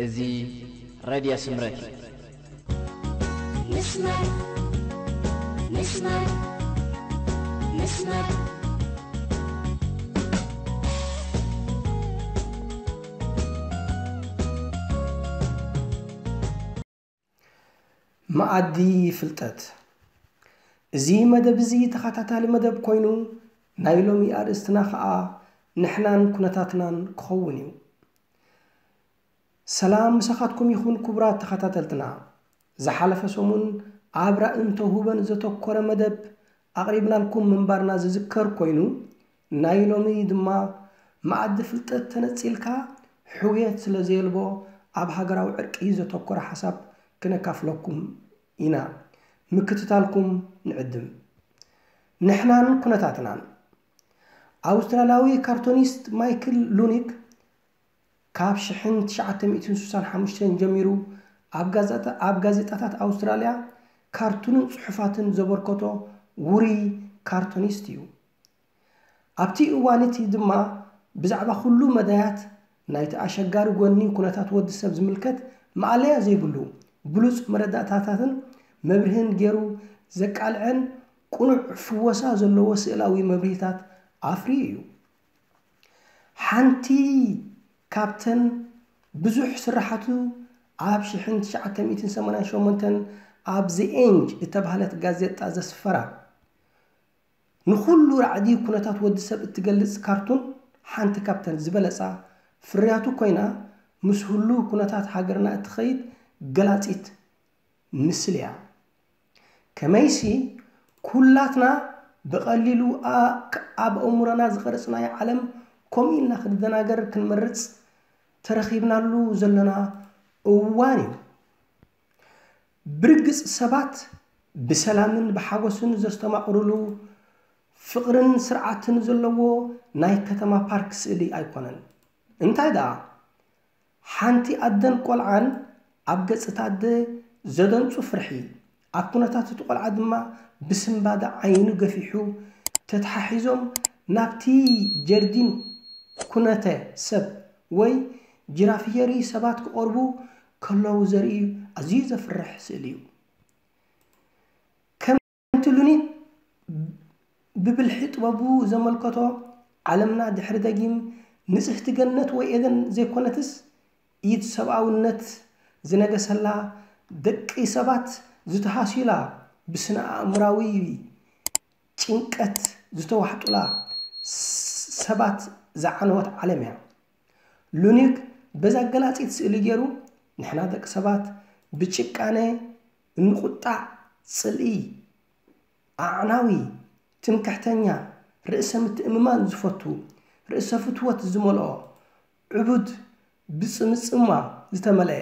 እዚ ሬድዮ ስምረት እዩ። ንስመር ንስመር ንስመር መኣዲ ፍልጠት። እዚ መደብ እዚ ተኸታታሊ መደብ ኮይኑ ናይ ሎሚ ኣርእስትና ኸኣ ንሕናን ኩነታትናን ክኸውን እዩ። ሰላም ምሳኻትኩም ይኹን ክቡራት ተኸታተልትና። ዝሓለፈ ሰሙን ኣብ ራእን ተውህቦን ዘተኮረ መደብ ኣቕሪብናልኩም ምንባርና ዝዝከር ኮይኑ ናይ ሎሚ ድማ መኣዲ ፍልጠት ተነጺልካ ሕውየት ስለ ዘየልቦ ኣብ ሃገራዊ ዕርቂ ዘተኮረ ሓሳብ ክነካፍለኩም ኢና። ምክትታልኩም ንዕድም። ንሕናን ኩነታትናን። ኣውስትራልያዊ ካርቶኒስት ማይክል ሉኒክ ካብ ሽሕን ትሽዓተ ሚእትን ስሳን ሓሙሽተን ጀሚሩ ኣብ ጋዜጣታት ኣውስትራልያ ካርቱንን ጽሑፋትን ዘበርከቶ ውሩይ ካርቶኒስት እዩ። ኣብቲ እዋን እቲ ድማ ብዛዕባ ኩሉ መዳያት ናይቲ ኣሸጋሪ ጎኒ ኩነታት ወዲ ሰብ ዝምልከት ማእለያ ዘይብሉ ብሉጽ መረዳእታታትን መብርህን ገይሩ ዘቃልዐን ቅኑዕ ፍወሳ ዘለዎ ስእላዊ መብርሂታት ኣፍርዩ እዩ። ሓንቲ ካብተን ብዙሕ ስራሓቱ ኣብ ሽሕን ትሽዓተ ሚእትን ሰማንያን ሸሞንተን ኣብ The Age እተባህለት ጋዜጣ ዘስፈራ ንኹሉ ራዕዲ ኩነታት ወዲ ሰብ እትገልጽ ካርቱን ሓንቲ ካብተን ዝበለጻ ፍርያቱ ኮይና ምስ ህሉው ኩነታት ሃገርና እትኸይድ ገላጺት ምስል እያ። ከመይሲ ኩላትና ብቐሊሉ ኣብ ኣእምሮና ዝቐረጽናዮ ዓለም ከምኡ ኢልና ክንደናገር ክንመርጽ ተረኺብናሉ ዘለና እዋን እዩ። ብርግጽ ሰባት ብሰላምን ብሓጎስን ዘስተማቕሩሉ ፍቕርን ስርዓትን ዘለዎ ናይ ከተማ ፓርክ ስእሊ ኣይኮነን። እንታይ ደኣ ሓንቲ ኣደን ቆልዓን ኣብ ገጽ እታ ኣደ ዘደንጹ ፍርሒ፣ ኣብ ኩነታት እቲ ቆልዓ ድማ ብስንባደ ዓይኑ ገፊሑ ተተሓሒዞም ናብቲ ጀርዲን ኩነተ ሰብ ወይ ጂራፊየሪ ሰባት ክቐርቡ ከለዉ ዘርኢ ኣዝዩ ዘፍርሕ ስእሊ እዩ። ከምቲ ሉኒክ ብብልሒ ጥበቡ ዘመልከቶ ዓለምና ድሕሪ ደጊም ንጽህቲ ገነት ወይ ኤደን ዘይኮነትስ ኢድ ሰብኣውነት ዝነገሰላ ደቂ ሰባት ዝተሃስዩላ ብስነ ኣእምራዊ ጭንቀት ዝተዋሕጡላ ሰባት ዝዓነወት ዓለም እያ። ሉኒክ በዛ ገላጺት ስእሊ ገይሩ ንሕና ደቂ ሰባት ብጭቃነ እንቁጣዕ፣ ጽልኢ፣ ኣዕናዊ፣ ትምክሕተኛ፣ ርእሰ ምትእምማን ዝፈቱ፣ ርእሰ ፍትወት ዝመልኦ፣ ዕቡድ፣ ብጽምጽማ ዝተመልአ፣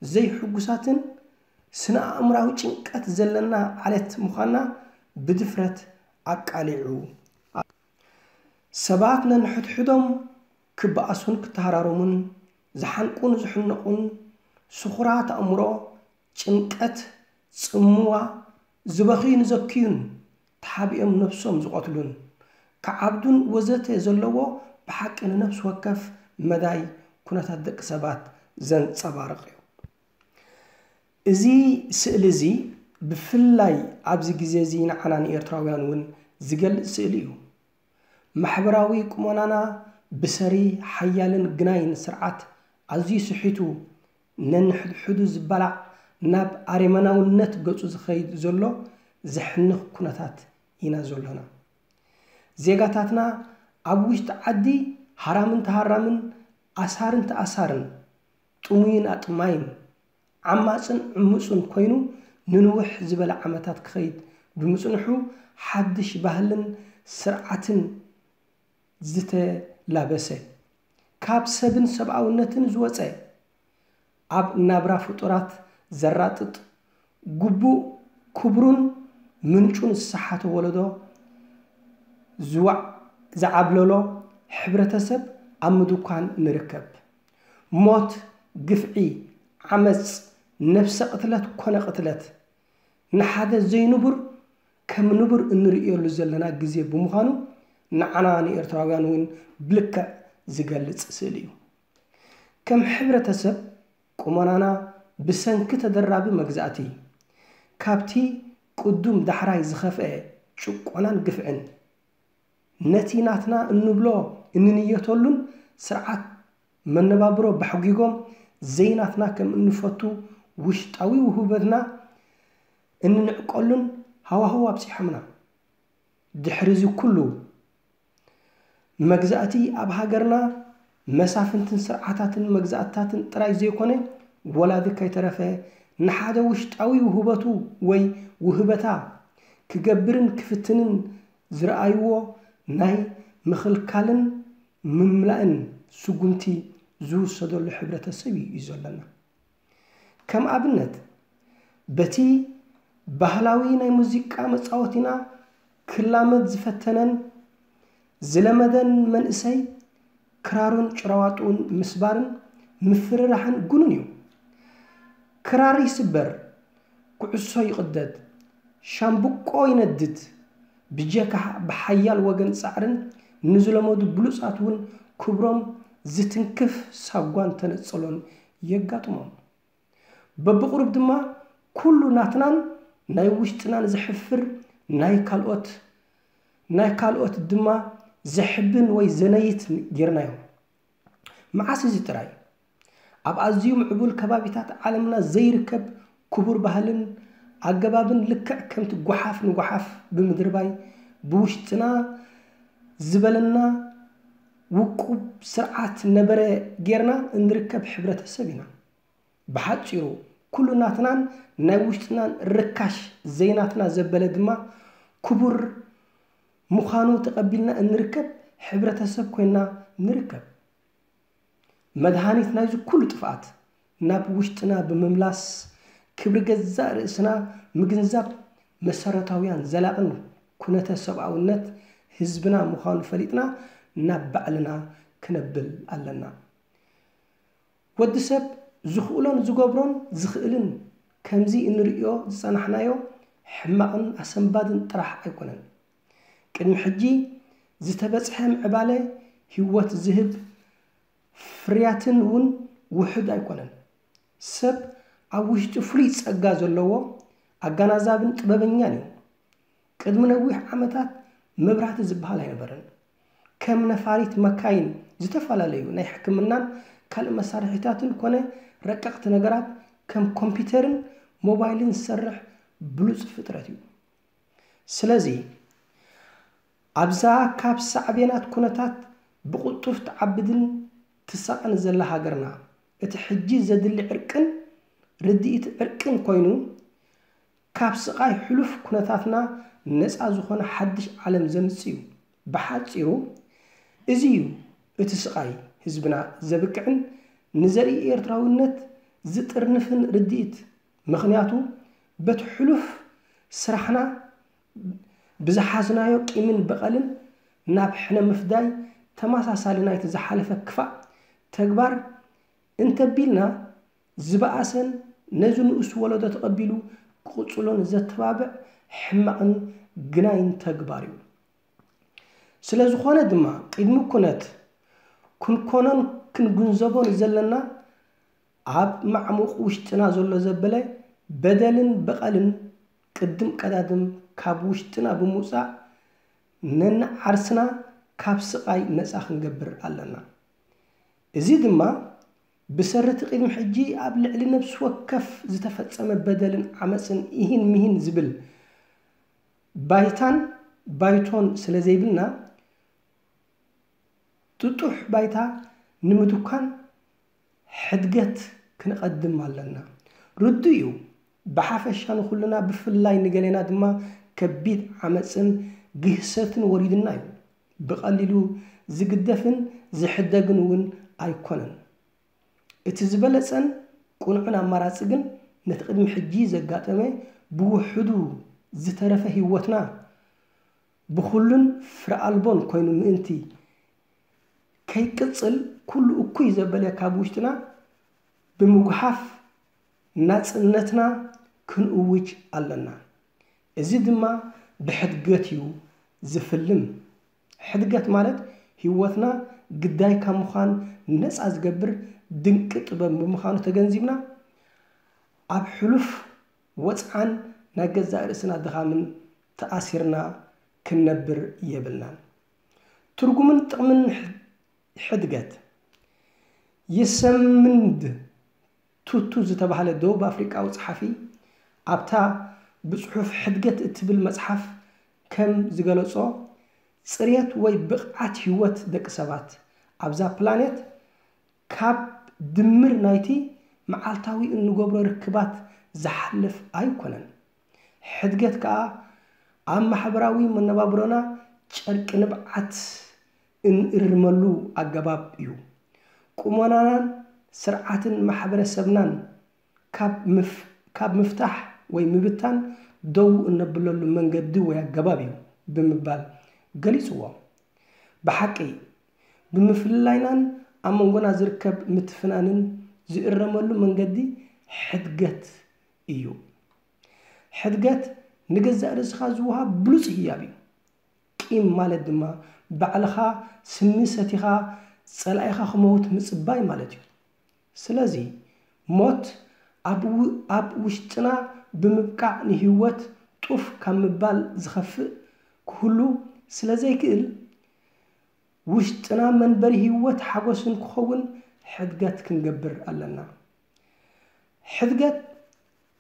ዘይሕጉሳትን ስነ ኣእምራዊ ጭንቀት ዘለና ዓሌት ምዃንና ብድፍረት ኣቃሊዑ። ሰባት ነንሕድሕዶም ክበኣሱን ክተሃራረሙን ዝሓንቁን ዝሕነቑን ስኹራት ኣእምሮ ጭንቀት፣ ጽምዋ፣ ዝበኽዩን ዘክዩን፣ ተሓቢኦም ነብሶም ዝቐትሉን፣ ክዓብዱን ወዘተ ዘለዎ ብሓቂ ንነፍሲ ወከፍ መዳይ ኩነታት ደቂ ሰባት ዘንጸባርቕ እዩ። እዚ ስእሊ እዚ ብፍላይ ኣብዚ ግዜ እዚ ንዓና ንኤርትራውያን እውን ዝገልጽ ስእሊ እዩ። ማሕበራዊ ቁመናና ብሰሪ ሓያልን ግናይን ስርዓት ኣዝዩ ስሒቱ ነንሕድሕዱ ዝባላዕ ናብ ኣሬመናውነት ገጹ ዝኸይድ ዘሎ ዘሕንኽ ኩነታት ኢና ዘሎና። ዜጋታትና ኣብ ውሽጢ ዓዲ ሃራምን ተሃራምን ኣሳርን ተኣሳርን ጥሙይን ኣጥማይን ዓማጽን ዕሙጽን ኮይኑ ንንውሕ ዝበለ ዓመታት ክኸይድ ብምጽንሑ ሓድሽ ባህልን ስርዓትን ዝተላበሰ ካብ ሰብን ሰብኣውነትን ዝወጸ ኣብ ናብራ ፍጡራት ዘራጥጥ ግቡእ ክብሩን ምንጩን ዝሰሓተ ወለዶ ዝዋዕ ዝዓብለሎ ሕብረተሰብ ኣብ ምድኳን ንርከብ። ሞት፣ ግፍዒ፣ ዓመጽ፣ ነብሰ ቅትለት ኮነ ቅትለት ንሓደ ዘይንቡር ከም ንቡር እንርእየሉ ዘለና ግዜ ብምዃኑ ንዓና ንኤርትራውያን እውን ብልክዕ ዝገልጽ ስእሊ እዩ። ከም ሕብረተሰብ ቁመናና ብሰንኪ ተደራቢ መግዛእቲ፣ ካብቲ ቅዱም ዳሕራይ ዝኸፍአ ጭቆናን ግፍዕን፣ ነቲ ናትና እንብሎ እንንየተሉን ስርዓት መነባብሮ ባሕጒጎም ዘይናትና ከም እንፈቱ ውሽጣዊ ውህበትና እንንዕቀሉን ሃዋህው ኣብጺሖምና። ድሕሪ እዚ ኩሉ መግዛእቲ ኣብ ሃገርና መሳፍንትን ስርዓታትን መግዛእትታትን ጥራይ ዘይኮነ ወላዲ ከይተረፈ ንሓደ ውሽጣዊ ውህበቱ ወይ ውህበታ ክገብርን ክፍትንን ዝረኣይዎ ናይ ምኽልካልን ምምላእን ስጉምቲ ዝውሰደሉ ሕብረተሰብ እዩ እዩ ዘለና። ከም ኣብነት በቲ ባህላዊ ናይ ሙዚቃ መጻወቲና ክላመድ ዝፈተነን ዝለመደን መንእሰይ ክራሩን ጭራዋጥኡን ምስባርን ምፍርራሕን ግኑን እዩ። ክራር ይስበር፣ ኩዕሶ ይቕደድ፣ ሻምብቆ ይነድድ፣ ብጀካ ብሓያል ወገን ጻዕርን ንዝለመዱ ብሉጻት እውን ክብሮም ዝትንክፍ ሳጓን ተነጸሎን የጋጥሞም። በብቕሩብ ድማ ኩሉ ናትናን ናይ ውሽጥናን ዘሕፍር ናይ ካልኦት ናይ ካልኦት ድማ ዘሕብን ወይ ዘነይት ጌርናዮ። መዓስ እዚ ጥራይ? ኣብ ኣዝዩ ምዕቡል ከባቢታት ዓለምና ዘይርከብ ክቡር ባህልን ኣገባብን ልክዕ ከምቲ ጓሓፍ ንጓሓፍ ብምድርባይ ብውሽጥና ዝበለና ውቁብ ስርዓት ነበረ ጌርና እንርከብ ሕብረተሰብ ኢና። ብሓጺሩ ኩሉ ናትናን ናይ ውሽጥናን ርካሽ ዘይናትና ዘበለ ድማ ክቡር ምዃኑ ተቐቢልና እንርከብ ሕብረተሰብ ኮይና ንርከብ። መድሃኒት ናይዚ ኩሉ ጥፍኣት ናብ ውሽጥና ብምምላስ ክብሪ ገዛእ ርእስና ምግንዛብ መሰረታውያን ዘላቕን ኩነተ ሰብኣውነት ህዝብና ምዃኑ ፈሊጥና ናብ ባዕልና ክነብል ኣለና። ወዲ ሰብ ዝኽእሎን ዝገብሮን ዝኽእልን ከምዚ እንርእዮ ዝጸናሕናዮ ሕማቕን ኣሰንባድን ጥራሕ ኣይኮነን። ቅድሚ ሕጂ ዝተበጽሐ ምዕባለ ህይወት ዝህብ ፍርያትን እውን ውሑድ ኣይኮነን። ሰብ ኣብ ውሽጡ ፍሉይ ጸጋ ዘለዎ ኣገናዛብን ጥበበኛን እዩ። ቅድሚ ነዊሕ ዓመታት መብራህቲ ዝበሃል ኣይነበረን። ከም ነፋሪት መካይን ዝተፈላለዩ ናይ ሕክምናን ካልእ መሳርሒታትን ኮነ ረቀቕቲ ነገራት ከም ኮምፒተርን ሞባይልን ዝሰርሕ ብሉጽ ፍጥረት እዩ። ስለዚ ኣብዛ ካብ ሳዕቤናት ኩነታት ብቕልጡፍ ትዓብድን ትሳቐን ዘላ ሃገርና እቲ ሕጂ ዘድሊ ዕርቅን ርድኢት ዕርቅን ኮይኑ ካብ ስቓይ ሕሉፍ ኩነታትና ነጻ ዝኾነ ሓድሽ ዓለም ዘምጽእ እዩ። ብሓጺሩ እዚ እዩ እቲ ስቓይ ህዝብና ዘብቅዕን ንዘርኢ ኤርትራውነት ዝጥርንፍን ርድኢት። ምኽንያቱ በቲ ሕሉፍ ስራሕና ብዝሓዝናዮ ቂምን በቐልን ናብ ሕነ ምፍዳይ ተመሳሳሊ ናይቲ ዝሓለፈ ክፋእ ተግባር እንተቢልና ዝበኣሰን ነዚ ንኡስ ወለዶ ተቐቢሉ ክቕጽሎን ዘተባብዕ ሕማቕን ግናይን ተግባር እዩ። ስለ ዝኾነ ድማ ቅድሚ ኩነት ክንኮኖን ክንግንዘቦን ዘለና ኣብ ማዕሙቕ ውሽጥና ዘሎ ዘበለ በደልን በቐልን ቅድም ቀዳድም ካብ ውሽጥና ብምውጻእ ነንዓርስና ካብ ስቓይ ነጻ ክንገብር ኣለና። እዚ ድማ ብሰሪ እቲ ቅድሚ ሕጂ ኣብ ልዕሊ ነፍሲ ወከፍ ዝተፈጸመ በደልን ዓመጽን ኢሂን ምሂን ዝብል ባይታን ባይቶን ስለ ዘይብልና ጥጡሕ ባይታ ንምድኳን ሕድገት ክንቐድም ኣለና። ርዱእ እዩ፣ ብሓፈሻ ንኹልና ብፍላይ ንገሌና ድማ ከቢድ ዓመጽን ግህሰትን ወሪዱና እዩ። ብቐሊሉ ዝግደፍን ዝሕደግን እውን ኣይኮነን። እቲ ዝበለጸን ቅኑዕን ኣማራጺ ግን ነቲ ቅድሚ ሕጂ ዘጋጠመ ብውሑዱ ዝተረፈ ህይወትና ብኹሉን ፍረ ኣልቦን ኮይኑ ምእንቲ ከይቅጽል ኩሉ እኩይ ዘበለ ካብ ውሽጥና ብምጉሓፍ ናጽነትና ክንእውጅ ኣለና። እዚ ድማ ብሕድገት እዩ ዝፍልም። ሕድገት ማለት ህይወትና ግዳይ ካብ ምዃን ነጻ ዝገብር ድንቂ ጥበብ ብምዃኑ ተገንዚብና፣ ኣብ ሕሉፍ ወጽዓን ናይ ገዛእ ርእስና ድኻምን ተኣሲርና ክንነብር የብልናን። ትርጉምን ጥቕምን ሕድገት። የሰምንድ ቱቱ ዝተባህለ ደቡብ ኣፍሪቃዊ ጸሓፊ ኣብታ ብጽሑፍ ሕድገት እትብል መጽሓፍ ከም ዝገለጾ፣ ጽሬት ወይ ብቕዓት ህይወት ደቂ ሰባት ኣብዛ ፕላኔት ካብ ድምር ናይቲ መዓልታዊ እንገብሮ ርክባት ዝሓልፍ ኣይኮነን። ሕድገት ከኣ ኣብ ማሕበራዊ መነባብሮና ጨርቂ ንብዓት እንእርመሉ ኣገባብ እዩ። ቁመናናን ስርዓትን ማሕበረሰብናን ካብ ምፍ-፣ ካብ ምፍታሕ ወይ ምብታን ደው እነብለሉ መንገዲ ወይ ኣገባብ እዩ ብምባል ገሊጽዎ። ብሓቂ፣ ብምፍልላይናን ኣብ መንጎና ዝርከብ ምትፍናንን ዝእረመሉ መንገዲ ሕድገት እዩ። ሕድገት ንገዛእ ርእስኻ ዝወሃብ ብሉጽ ህያብ እዩ። ቂም ማለት ድማ ባዕልኻ ስሚ ሰቲኻ ጸላኢኻ ክመውት ምጽባይ ማለት እዩ። ስለዚ ሞት ኣብ ው-፣ ኣብ ውሽጥና ብምብቃዕ ንህይወት ጡፍ ካብ ምባል ዝኸፍእ ክህሉ ስለ ዘይክእል፣ ውሽጥና መንበሪ ህይወት ሓጎስን ክኸውን ሕድገት ክንገብር ኣለና። ሕድገት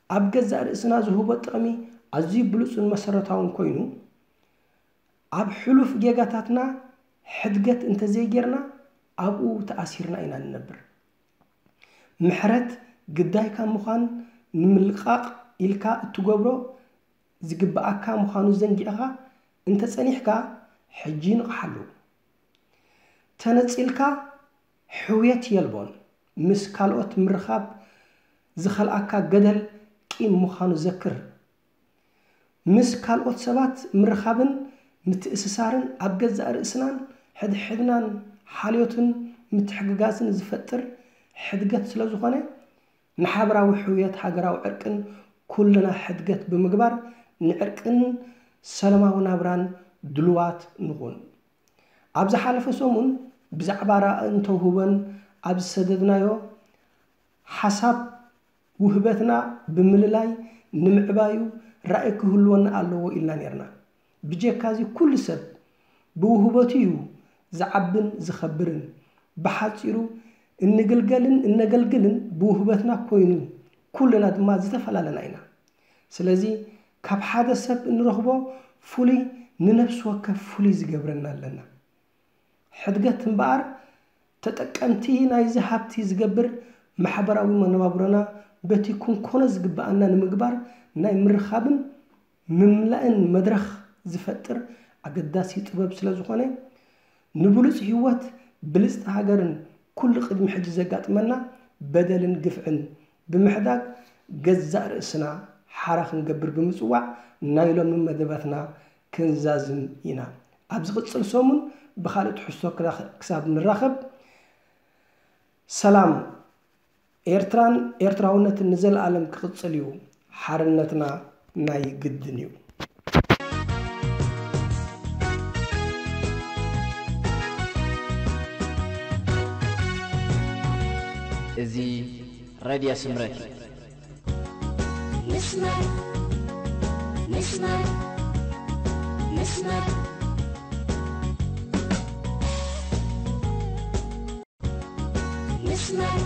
ኣብ ገዛእ ርእስና ዝህቦ ጥቕሚ ኣዝዩ ብሉጽን መሰረታውን ኮይኑ፣ ኣብ ሕሉፍ ጌጋታትና ሕድገት እንተዘይጌርና፣ ኣብኡ ተኣሲርና ኢና ንነብር። ምሕረት ግዳይካ ምዃን ንምልቃቕ ኢልካ እትገብሮ ዝግብኣካ ምዃኑ ዘንጊዕኻ እንተጸኒሕካ፣ ሕጂ ንቕሓሉ። ተነጺልካ ሕውየት የልቦን። ምስ ካልኦት ምርኻብ ዝኸልኣካ ገደል ቂም ምዃኑ ዘክር። ምስ ካልኦት ሰባት ምርኻብን ምትእስሳርን ኣብ ገዛእ ርእስናን ሕድሕድናን ሓልዮትን ምትሕግጋዝን ዝፈጥር ሕድገት ስለ ዝኾነ፣ ንሓበራዊ ሕውየት ሃገራዊ ዕርቅን ኩልና ሕድገት ብምግባር ንዕርቅን ሰላማዊ ናብራን ድሉዋት ንኹን። ኣብ ዝሓለፈ ሰሙን ብዛዕባ ራእን ተውህቦን ኣብ ዝሰደድናዮ ሓሳብ፣ ውህበትና ብምልላይ ንምዕባዩ ራእይ ክህልወና ኣለዎ ኢልና ነይርና። ብጀካዚ ኩሉ ሰብ ብውህበቱ እዩ ዝዓብን ዝኸብርን። ብሓጺሩ እንግልገልን እነገልግልን ብውህበትና ኮይኑ ኩልና ድማ ዝተፈላለና ኢና። ስለዚ ካብ ሓደ ሰብ እንረኽቦ ፍሉይ ንነፍሲ ወከፍ ፍሉይ ዝገብረና ኣለና። ሕድገት እምበኣር ተጠቀምቲ ናይዚ ሃብቲ ዝገብር ማሕበራዊ መነባብሮና በቲ ክንኮኖ ዝግብኣና ንምግባር ናይ ምርኻብን ምምላእን መድረኽ ዝፈጥር ኣገዳሲ ጥበብ ስለ ዝኾነ፣ ንብሉጽ ህይወት ብልጽቲ ሃገርን ኩሉ ቅድሚ ሕጂ ዘጋጥመና በደልን ግፍዕን ብምሕዳግ ገዛእ ርእስና ሓራ ክንገብር ብምጽዋዕ ናይ ሎሚ መደባትና ክንዛዝም ኢና። ኣብ ዝቕጽል ሰሙን ብኻልእ ትሕዝቶ ክራኸ-፣ ክሳብ ንራኸብ፣ ሰላም። ኤርትራን ኤርትራውነትን ንዘለኣለም ክቕጽል እዩ። ሓርነትና ናይ ግድን እዩ። እዚ ሬድዮ ስምረት እዩ። ምስማር፣ ምስማር፣ ምስማር፣ ምስማር፣